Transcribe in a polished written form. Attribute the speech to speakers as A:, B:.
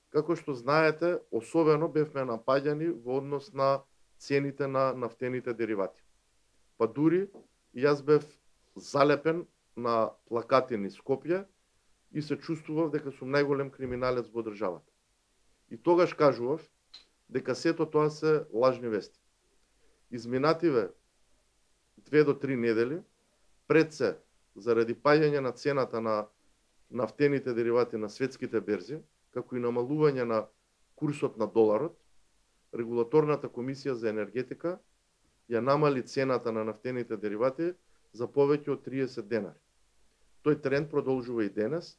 A: Како што знаете, особено бевме напаѓани во однос на цените на нафтените деривати. Па дури и јас бев залепен на плакати низ Скопје и се чувствував дека сум најголем криминалец во државата. И тогаш кажував дека сето тоа се лажни вести. Изминативе 2 до 3 недели, пред се, заради паѓање на цената на нафтените деривати на светските берзи, како и намалување на курсот на доларот, Регулаторната комисија за енергетика ја намали цената на нафтените деривати за повеќе од 30 денари. Тој тренд продолжува и денес,